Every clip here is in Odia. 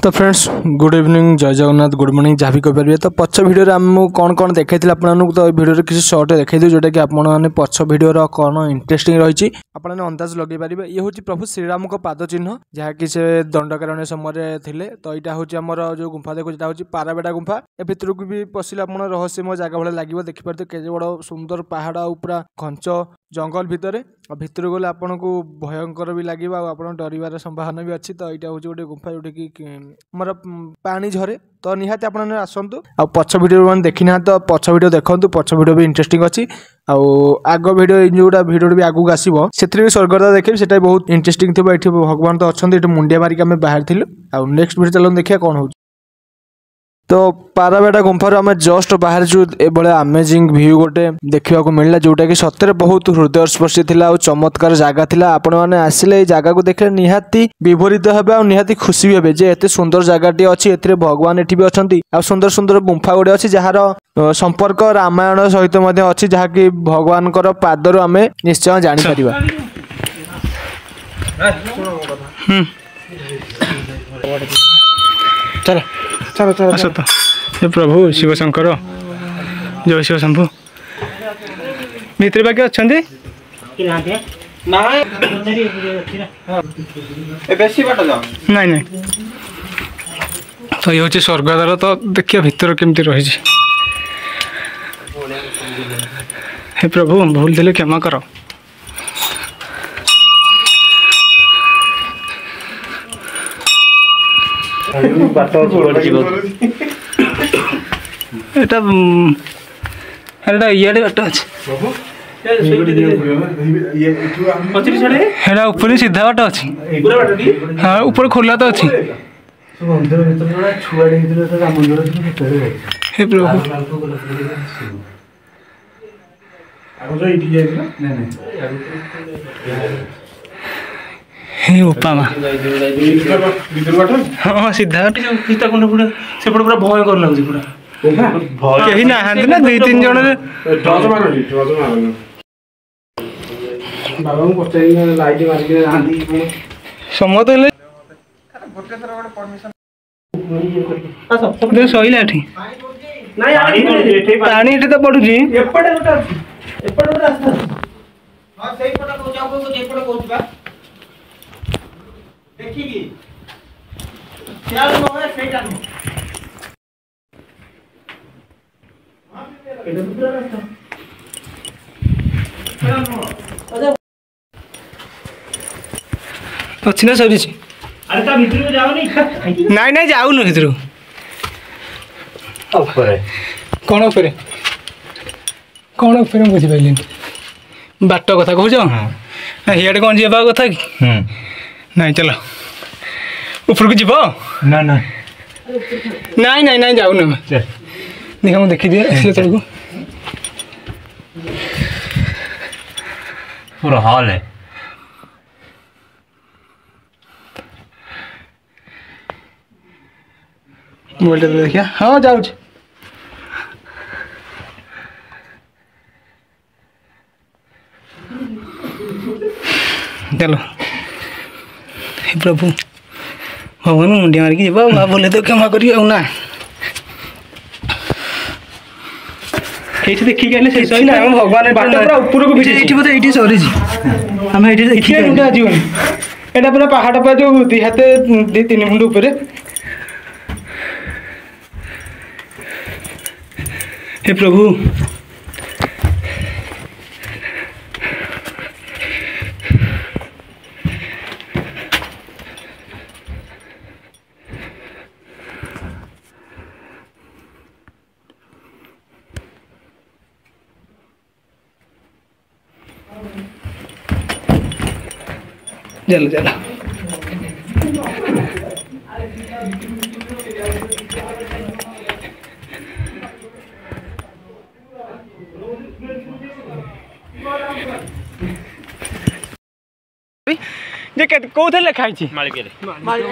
ତ ଫ୍ରେଣ୍ଡସ୍, ଗୁଡ୍ ଇଭିନିଂ, ଜୟ ଜଗନ୍ନାଥ, ଗୁଡ୍ ମର୍ଣ୍ଣିଂ, ଯାହା ବି କହିପାରିବେ। ତ ପଛ ଭିଡ଼ିଓରେ ମୁଁ କ'ଣ କ'ଣ ଦେଖାଇଥିଲି ଆପଣମାନଙ୍କୁ, ତ ଏ ଭିଡ଼ିଓରେ କିଛି ସର୍ଟ ଦେଖାଇଦେବି, ଯେଉଁଟାକି ଆପଣମାନେ ପଛ ଭିଡ଼ିଓର କ'ଣ ଇଣ୍ଟରେଷ୍ଟିଂ ରହିଛି ଆପଣମାନେ ଅନ୍ଦାଜ ଲଗାଇ ପାରିବେ। ଇଏ ହେଉଛି ପ୍ରଭୁ ଶ୍ରୀରାମଙ୍କ ପାଦ ଚିହ୍ନ, ଯାହାକି ସେ ଦଣ୍ଡକାରଣ୍ୟ ସମୟରେ ଥିଲେ। ତ ଏଇଟା ହେଉଛି ଆମର ଯେଉଁ ଗୁମ୍ଫା ଦେଖୁଛି, ଏଇଟା ହେଉଛି ପାରାବେଡ଼ା ଗୁମ୍ଫା। ଏ ଭିତରକୁ ବି ପଶିଲେ ଆପଣ ରହସ୍ୟମୟ ଜାଗା ଭଳିଆ ଲାଗିବ। ଦେଖିପାରୁଥିବେ କେତେ ବଡ଼ ସୁନ୍ଦର ପାହାଡ଼ ଆଉ ପୁରା ଘଞ୍ଚ ଜଙ୍ଗଲ ଭିତରେ। ଆଉ ଭିତରକୁ ଗଲେ ଆପଣଙ୍କୁ ଭୟଙ୍କର ବି ଲାଗିବ ଆଉ ଆପଣ ଡରିବାର ସମ୍ଭାବନା ବି ଅଛି। ତ ଏଇଟା ହେଉଛି ଗୋଟେ ଗୁମ୍ଫା ଯେଉଁଟାକି ଆମର ପାଣି ଝରେ। ତ ନିହାତି ଆପଣମାନେ ଆସନ୍ତୁ, ଆଉ ପଛ ଭିଡ଼ିଓ ମାନେ ଦେଖିନାହାନ୍ତି ତ ପଛ ଭିଡ଼ିଓ ଦେଖନ୍ତୁ, ପଛ ଭିଡ଼ିଓ ବି ଇଣ୍ଟରେଷ୍ଟିଂ ଅଛି। ଆଉ ଆଗ ଭିଡ଼ିଓ ଏଇ ଯେଉଁଟା ଭିଡ଼ିଓ ବି ଆଗକୁ ଆସିବ, ସେଥିରେ ବି ସ୍ୱର୍ଗଦ୍ୱାର ଦେଖିବି, ସେଟା ବି ବହୁତ ଇଣ୍ଟରେଷ୍ଟିଂ ଥିବ। ଏଠି ଭଗବାନ ତ ଅଛନ୍ତି, ଏଠି ମୁଣ୍ଡିଆ ମାରିକି ଆମେ ବାହାରିଥିଲୁ। ଆଉ ନେକ୍ସଟ ଭିଡ଼ିଓ ଚାଲନ୍ତୁ ଦେଖିବା କ'ଣ ହେଉଛି। ତ ପାରାବେଡ଼ା ଗୁମ୍ଫାରୁ ଆମେ ଜଷ୍ଟ ବାହାରିଛୁ, ଏଭଳିଆ ଆମେଜିଂ ଭ୍ୟୁ ଗୋଟେ ଦେଖିବାକୁ ମିଳିଲା, ଯେଉଁଟାକି ସତରେ ବହୁତ ହୃଦୟସ୍ପର୍ଶୀ ଥିଲା ଆଉ ଚମତ୍କାର ଜାଗା ଥିଲା। ଆପଣମାନେ ଆସିଲେ ଏଇ ଜାଗାକୁ ଦେଖିଲେ ନିହାତି ବିଭୋରିତ ହେବେ ଆଉ ନିହାତି ଖୁସି ବି ହେବେ ଯେ ଏତେ ସୁନ୍ଦର ଜାଗାଟି ଅଛି, ଏଥିରେ ଭଗବାନ ଏଠି ବି ଅଛନ୍ତି ଆଉ ସୁନ୍ଦର ସୁନ୍ଦର ଗୁମ୍ଫା ଗୁଡ଼ିଏ ଅଛି, ଯାହାର ସମ୍ପର୍କ ରାମାୟଣ ସହିତ ମଧ୍ୟ ଅଛି, ଯାହାକି ଭଗବାନଙ୍କର ପାଦରୁ ଆମେ ନିଶ୍ଚୟ ଜାଣିପାରିବା। ଚାଲ ଚାଲ ଚାଲ, ଆସ ତ। ହେ ପ୍ରଭୁ ଶିବ ଶଙ୍କର, ଜୟ ଶିବ ଶମ୍ଭୁ। ଭିତରେ ବାକି ଅଛନ୍ତି? ନାଇଁ ନାଇଁ। ତ ଇଏ ହେଉଛି ସ୍ୱର୍ଗଦ୍ୱାର। ତ ଦେଖିବା ଭିତରେ କେମିତି ରହିଛି। ହେ ପ୍ରଭୁ, ଭୁଲ ଥିଲେ କ୍ଷମା କର। ଏଟା ଏଟା ଇଆଡ଼େ ବାଟ ଅଛି, ହେଟା ଉପରେ ସିଧା ବାଟ ଅଛି। ହଁ, ଉପରେ ଖୋଲା ତ ଅଛି। ହେ ପ୍ରଭୁ, ହେ ବୋପା ମା। ହଁ, ସିଧା ସୀତାକୁଣ୍ଡ ପୁରା ସେପଟେ ପୁରା ଭୟଙ୍କର ଲାଗୁଛି ପୁରା। କେହି ନାହାନ୍ତି ନା, ଦୁଇ ତିନି ଜଣରେ। ସମସ୍ତେ ହେଲେ ସଇଲା। ଏଠି ପାଣି ଏଠି ତ ପଡୁଛି। ଏପଟେ ଗୋଟେ ଅଛି, ଏପଟେ ଗୋଟେ ରାସ୍ତା ଅଛି। ହଁ, ସେଇପଟେ କହୁଛି, ଆଉ କହୁଛି ଏପଟେ କହୁଛି ବା। ଦେଖିକି ସିଆଡ଼େ ନୁହେଁ, ସେଇଟା ନୁହଁ। ଏଇଟା ତ ପୁରା ରାସ୍ତା ଅଛି ନା ସରିଛି? ଆରେ ତା ଭିତରକୁ ଯାଉନି। ନାଇଁ ନାଇଁ, ଯାଉନୁ ଭିତରକୁ। ଉପରେ କ'ଣ? ଉପରେ କ'ଣ? ଉପରେ ମୁଁ ବୁଝିପାରିଲିନି। ବାଟ କଥା କହୁଛ? ହିଆଡ଼େ କ'ଣ ଯିବା କଥା କି? ନାଇଁ, ଚାଲ ଉପରକୁ ଯିବ। ନା ନା, ନାଇଁ ନାଇଁ ନାଇଁ, ଯାଉନୁ ଆମେ। ଦେଖ, ମୁଁ ଦେଖିଦିଏ ଆସିଲେ ତଳକୁ। ପୁରା ହଲ୍ ମୋବାଇଲଟା ଦେଖିବା। ହଁ, ଯାଉଛି। ଚାଲ। ହେ ପ୍ରଭୁ ଭଗବାନ, ମୁଣ୍ଡିଆ ମାରିକି ଯିବା ଆଉ ଭୁଲ ତ କ୍ଷମା କରିବେ ଆଉ ନା। ଏଇଠି ଦେଖିକି ଆଇଲେ ସେ ସଇଲା। ଆମ ଭଗବାନ ବାଟ ପୁରା ଉପରକୁ ଭିଡିଛି। ଏଇଠି ବୋଧେ, ଏଇଠି ସରିଛି। ଆମେ ଏଇଠି ଦେଖିକି ମୁଣ୍ଡ ଆସିବନି। ଏଇଟା ପୁରା ପାହାଡ଼, ପୁରା ଯୋଉ ଦି ହାତେ ଦି ତିନି ମୁଣ୍ଡ ଉପରେ। ହେ ପ୍ରଭୁ, ଚାଲ ଚାଲ। ଯେ କୋଉଥିରେ ଲେଖା ହେଇଛି? ମାଳିକା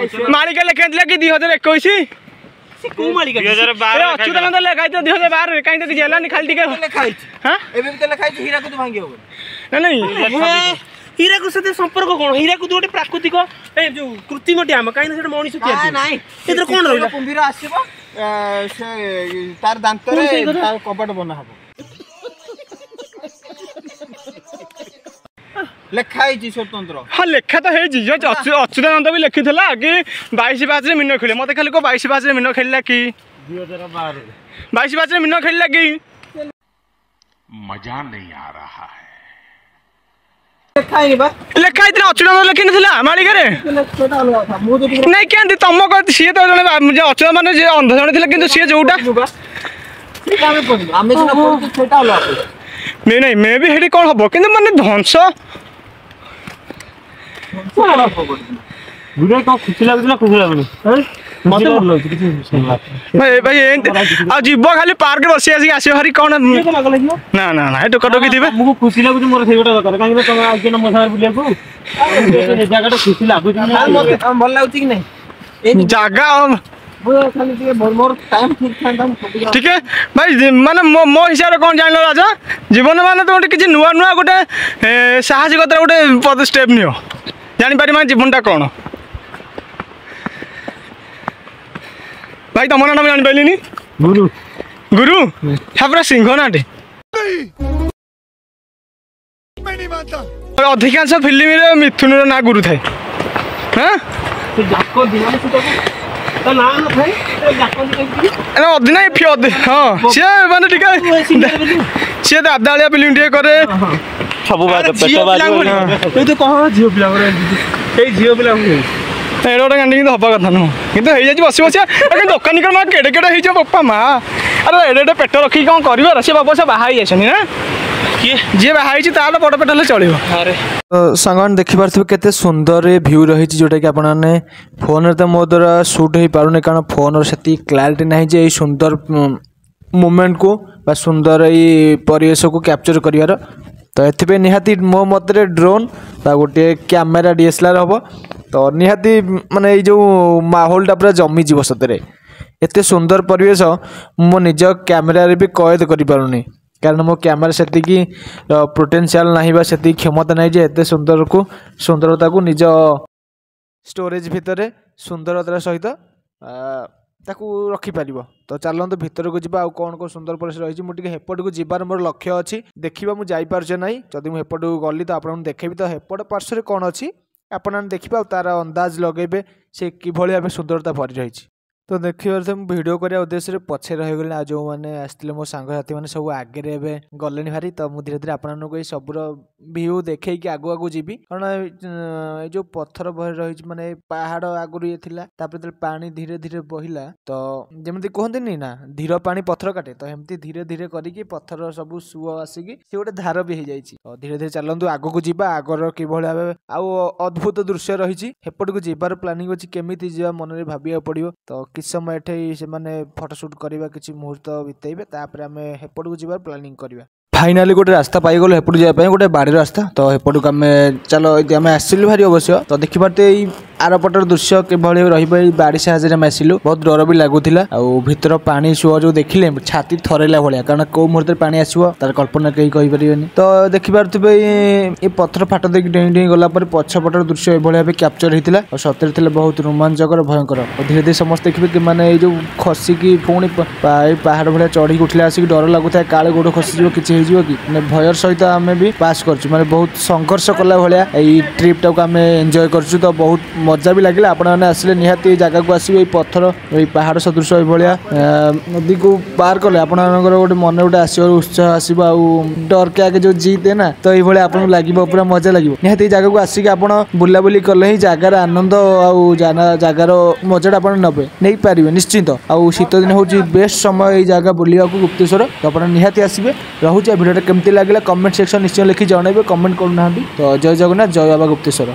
ଲେଖା ହେଇଥିଲା କି 2021? କୋଉ ମାଳିକା? ଅଚ୍ୟୁତାନନ୍ଦ ଲେଖା ହେଇଥିଲା 2012ରେ, କାହିଁ ତ କିଛି ହେଲାନି। ଖାଲି ଟିକେ ଲେଖା ହେଇଛି। ହଁ, ଏବେ ବି ତ ଲେଖା ହେଇଛି ହୀରାକୁଦ ଭାଙ୍ଗି ହବନି। ନାଇଁ ନାଇଁ, ହୀରାକୁଦ ସାଥେ ସମ୍ପର୍କ କଣ? ହୀରାକୁଦ ଗୋଟେ ପ୍ରାକୃତିକ, ଏ ଯୋଉ କୃତ୍ରିମ ଡ୍ୟାମ, କାହିଁକି ନା ସେଟା ମଣିଷ ତିଆରି। ନାଇଁ, ଏଥିରେ କଣ ରହିଲା? କୁମ୍ଭୀର ଆସିବ, ସେ ତାର ଦାନ୍ତରେ ତାର କବାଟ ବନା ହବ, ଲେଖା ହେଇଛି ସ୍ୱତନ୍ତ୍ର। ହଁ, ଲେଖା ତ ହେଇଛି। ଅଚ୍ୟୁତାନନ୍ଦ ବି ଲେଖିଥିଲା କି 22 ପାହାଚରେ ମୀନ ଖେଳିବ। ମତେ ଖାଲି କହ, 22 ପାହାଚରେ ମୀନ ଖେଳିଲା କି? 22 ପାହାଚରେ ମୀନ ଖେଳିଲା କି? ମଜା ନେଇ ଆ ରହା ହై। ଲେଖା ହେଇଥିଲା, ଅଚ୍ୟୁତାନନ୍ଦ ଲେଖିନଥିଲା ମାଳିକାରେ? ନାଇଁ, କେମିତି ତମ ସିଏ ତ ଜଣେ ଅଚ୍ୟୁତ, ମାନେ ଯିଏ ଅନ୍ଧ ଜଣେ ଥିଲା, କିନ୍ତୁ ସିଏ ଯୋଉଟା ନାଇଁ ନାଇଁ, ମେ ବି ସେଠି କ'ଣ ହବ, କିନ୍ତୁ ମାନେ ଧ୍ୱଂସ। ଖୁସି ଲାଗୁଛି ନା ଖୁସି ଲାଗୁନି? ମତେ ଭଲ ଲାଗୁଛି। କିଛି ଭାଇ, ଏମିତି ଆଉ ଯିବ ଖାଲି ପାର୍କରେ ବସି ଆସିକି ଆସିବ ଭାରି କ'ଣ? ନା ନା ନା, ଏ ଟୋକା ଟୋକି ଥିବେ। ଆମକୁ ଖୁସି ଲାଗୁଛି, ମୋର ସେଇ ଗୋଟେ ଦରକାର। କାହିଁକି ନା ତମେ ଆଉଛ ନା ମୋ ସାଙ୍ଗରେ ବୁଲିବାକୁ, ଜାଗାଟା ଖୁସି ଲାଗୁଛି। ଭଲ ଲାଗୁଛି କି ନାଇଁ ଜାଗା? ଖାଲି ଟିକେ ମୋର ଟାଇମ୍ ଠିକ୍ ଥାନ୍ତା ଟିକେ ଭାଇ। ମାନେ ମୋ ହିସାବରେ କ'ଣ ଜାଣିଲ ରାଜା, ଜୀବନ ମାନେ ତମେ ଗୋଟେ କିଛି ନୂଆ ନୂଆ ଗୋଟେ ସାହସିକତାର ଗୋଟେ ଷ୍ଟେପ୍ ନିଅ, ଜାଣିପାରିବ ମାନେ ଜୀବନଟା କ'ଣ। ଭାଇ, ତମ ନାଁ ମୁଁ ଜାଣିପାରିଲିନି। ଗୁରୁ। ଗୁରୁ, ହଁ, ପୁରା ସିଂହ ନାଁଟେ। ଅଧିକାଂଶ ଫିଲ୍ମରେ ମିଥୁନର ନାଁ ଗୁରୁ ଥାଏ। ହଁ, ଅଧିନାୟକ। ହଁ, ସିଏ ମାନେ ଟିକେ ସିଏ ଦାଦାଳିଆ ଫିଲ୍ମ ଟିକେ କରେ। ସବୁ କଣ ଝିଅ ପିଲାଙ୍କର, ଏଇ ଝିଅ ପିଲାଙ୍କୁ ଏଇଟା ଗୋଟେ ଗାଣ୍ଡି, କିନ୍ତୁ ହବା କଥା ନୁହଁ, କିନ୍ତୁ ହେଇଯାଇଛି। ବସି ବସି ଦୋକାନୀଙ୍କର ମା କେଡ଼େ କେଡ଼େ ହେଇଯିବ, ବାପା ମା। ଆରେ, ଏଡ଼େ ଏଡ଼େ ପେଟ ରଖିକି କ'ଣ କରିବ? ସେ ବାବା, ସେ ବାହା ହେଇଯାଇଛନ୍ତି ନା? କିଏ ଯିଏ ବାହା ହେଇଛି ତାର ବଡ଼ ପେଟ ହେଲେ ଚଳିବ। ଆରେ ସାଙ୍ଗମାନେ, ଦେଖିପାରୁଥିବେ କେତେ ସୁନ୍ଦର ଭ୍ୟୁ ରହିଛି, ଯେଉଁଟାକି ଆପଣମାନେ ଫୋନ୍ରେ ତ ମୋ ଦ୍ୱାରା ସୁଟ୍ ହେଇପାରୁନି, କାରଣ ଫୋନ୍ର ସେତିକି କ୍ଲାରିଟି ନାହିଁ ଯେ ଏଇ ସୁନ୍ଦର ମୁମେଣ୍ଟକୁ ବା ସୁନ୍ଦର ଏଇ ପରିବେଶକୁ କ୍ୟାପଚର୍ କରିବାର। ତ ଏଥିପାଇଁ ନିହାତି ମୋ ମତରେ ଡ୍ରୋନ୍ ବା ଗୋଟିଏ କ୍ୟାମେରା DSLR ହେବ ତ ନିହାତି, ମାନେ ଏଇ ଯେଉଁ ମାହୋଲଟା ପୁରା ଜମିଯିବ। ସତରେ ଏତେ ସୁନ୍ଦର ପରିବେଶ ମୁଁ ମୋ ନିଜ କ୍ୟାମେରାରେ ବି କଏଦ କରିପାରୁନି, କାରଣ ମୋ କ୍ୟାମେରା ସେତିକି ପୋଟେନ୍ସିଆଲ୍ ନାହିଁ ବା ସେତିକି କ୍ଷମତା ନାହିଁ ଯେ ଏତେ ସୁନ୍ଦରକୁ ସୁନ୍ଦରତାକୁ ନିଜ ଷ୍ଟୋରେଜ୍ ଭିତରେ ସୁନ୍ଦରତାର ସହିତ ତାକୁ ରଖିପାରିବ। ତ ଚାଲନ୍ତୁ ଭିତରକୁ ଯିବା, ଆଉ କ'ଣ କ'ଣ ସୁନ୍ଦର ପରିବେଶ ରହିଛି। ମୁଁ ଟିକେ ହେପଟକୁ ଯିବାର ମୋର ଲକ୍ଷ୍ୟ ଅଛି, ଦେଖିବା ମୁଁ ଯାଇପାରୁଛି ନାହିଁ। ଯଦି ମୁଁ ହେପଟକୁ ଗଲି ତ ଆପଣଙ୍କୁ ଦେଖେଇବି। ତ ହେପଟ ପାର୍ଶ୍ୱରେ କ'ଣ ଅଛି ଆପଣମାନେ ଦେଖିବେ ଆଉ ତାର ଅନ୍ଦାଜ ଲଗେଇବେ ସେ କିଭଳି ଭାବେ ସୁନ୍ଦରତା ଭରି ରହିଛି। ତ ଦେଖିବାରେ ମୁଁ ଭିଡ଼ିଓ କରିବା ଉଦ୍ଦେଶ୍ୟରେ ପଛରେ ରହିଗଲି, ଆଉ ଯେଉଁମାନେ ଆସିଥିଲେ ମୋ ସାଙ୍ଗସାଥିମାନେ ସବୁ ଆଗରେ ଏବେ ଗଲେଣି ଭାରି। ତ ମୁଁ ଧୀରେ ଧୀରେ ଆପଣମାନଙ୍କୁ ଏଇ ସବୁର ଭିୟୁ ଦେଖେଇକି ଆଗକୁ ଆଗକୁ ଯିବି, କାରଣ ଏଇ ଯେଉଁ ପଥର ଭରି ରହିଛି, ମାନେ ପାହାଡ଼ ଆଗରୁ ଇଏ ଥିଲା, ତାପରେ ଯେତେବେଳେ ପାଣି ଧୀରେ ଧୀରେ ବହିଲା, ତ ଯେମିତି କୁହନ୍ତିନି ନା ଧୀର ପାଣି ପଥର କାଟେ, ତ ଏମିତି ଧୀରେ ଧୀରେ କରିକି ପଥର ସବୁ ସୁଅ ଆସିକି ସେ ଗୋଟେ ଧାର ବି ହେଇଯାଇଛି। ତ ଧୀରେ ଧୀରେ ଚାଲନ୍ତୁ ଆଗକୁ ଯିବା, ଆଗର କିଭଳି ଭାବେ ଆଉ ଅଦ୍ଭୁତ ଦୃଶ୍ୟ ରହିଛି। ହେପଟକୁ ଯିବାର ପ୍ଲାନିଂ ଅଛି, କେମିତି ଯିବା ମନରେ ଭାବିବାକୁ ପଡ଼ିବ। ତ କିଛି ସମୟ ଏଠି ସେମାନେ ଫଟୋ ସୁଟ୍ କରିବା, କିଛି ମୁହୂର୍ତ୍ତ ବିତେଇବେ, ତାପରେ ଆମେ ହେପଟକୁ ଯିବାର ପ୍ଲାନିଂ କରିବା। ଫାଇନାଲି ଗୋଟେ ରାସ୍ତା ପାଇଗଲୁ ହେପଟକୁ ଯିବା ପାଇଁ, ଗୋଟେ ବାଡ଼ିର ରାସ୍ତା। ତ ହେପଟକୁ ଆମେ ଚାଲ, ଏଇଠି ଆମେ ଆସିଲୁ ଭାରି ଅବଶ୍ୟ। ତ ଦେଖିପାରୁଥିବେ ଏଇ ଆରପଟର ଦୃଶ୍ୟ କିଭଳି ରହିବ। ଏଇ ବାଡ଼ି ସାହାଯ୍ୟରେ ଆମେ ଆସିଲୁ, ବହୁତ ଡର ବି ଲାଗୁଥିଲା। ଆଉ ଭିତର ପାଣି ସୁଅ ଯୋଉ ଦେଖିଲେ ଛାତି ଥରେଇଲା ଭଳିଆ, କାରଣ କୋଉ ମୁହୂର୍ତ୍ତରେ ପାଣି ଆସିବ ତାର କଳ୍ପନା କେହି କହିପାରିବେନି। ତ ଦେଖିପାରୁଥିବେ ଏଇ ପଥର ଫାଟ ଦେଇକି ଡେଇଁ ଡେଇଁ ଗଲା ପରେ ପଛପଟର ଦୃଶ୍ୟ ଏଭଳି ଭାବେ କ୍ୟାପଚର ହେଇଥିଲା, ଆଉ ସତରେ ଥିଲେ ବହୁତ ରୋମାଞ୍ଚକର, ଭୟଙ୍କର। ଆଉ ଧୀରେ ଧୀରେ ସମସ୍ତେ ଦେଖିବେ କି ମାନେ ଏଇ ଯୋଉ ଖସିକି ପୁଣି ଏଇ ପାହାଡ଼ ଭଳିଆ ଚଢ଼ିକି ଉଠିଲେ ଆସିକି ଡର ଲାଗୁଥାଏ, କାଳେ ଗୋଡ଼ ଖସିଯିବ, କିଛି ହେଇଯିବ କି। ମାନେ ଭୟର ସହିତ ଆମେ ବି ପାସ୍ କରିଛୁ, ମାନେ ବହୁତ ସଂଘର୍ଷ କଲା ଭଳିଆ ଏଇ ଟ୍ରିପ୍ଟାକୁ ଆମେ ଏନ୍ଜୟ କରିଛୁ। ତ ବହୁତ ମଜା ବି ଲାଗିଲା। ଆପଣମାନେ ଆସିଲେ ନିହାତି ଏଇ ଜାଗାକୁ ଆସିବେ। ଏଇ ପଥର, ଏଇ ପାହାଡ଼ ସଦୃଶ ଏଇଭଳିଆ ନଦୀକୁ ପାର କଲେ ଆପଣମାନଙ୍କର ଗୋଟେ ମନରେ ଗୋଟେ ଆସିବ ଉତ୍ସାହ ଆସିବ, ଆଉ ଡରକେ ଆଗେ ଯୋଉ ଜିତେ ନା, ତ ଏଇଭଳିଆ ଆପଣଙ୍କୁ ଲାଗିବ, ପୁରା ମଜା ଲାଗିବ। ନିହାତି ଏଇ ଜାଗାକୁ ଆସିକି ଆପଣ ବୁଲାବୁଲି କଲେ ହିଁ ଜାଗାର ଆନନ୍ଦ ଆଉ ଜାଗାର ମଜାଟା ଆପଣ ନେବେ, ନେଇପାରିବେ ନିଶ୍ଚିନ୍ତ। ଆଉ ଶୀତ ଦିନ ହେଉଛି ବେଷ୍ଟ ସମୟ ଏଇ ଜାଗା ବୁଲିବାକୁ, ଗୁପ୍ତେଶ୍ୱର। ତ ଆପଣ ନିହାତି ଆସିବେ। ରହୁଛି, ଆଉ ଭିଡ଼ିଓଟା କେମିତି ଲାଗିଲା କମେଣ୍ଟ ସେକ୍ସନ ନିଶ୍ଚୟ ଲେଖି ଜଣାଇବେ, କମେଣ୍ଟ କରୁନାହାନ୍ତି ତ। ଜୟ ଜଗନ୍ନାଥ, ଜୟ ବାବା ଗୁପ୍ତେଶ୍ୱର।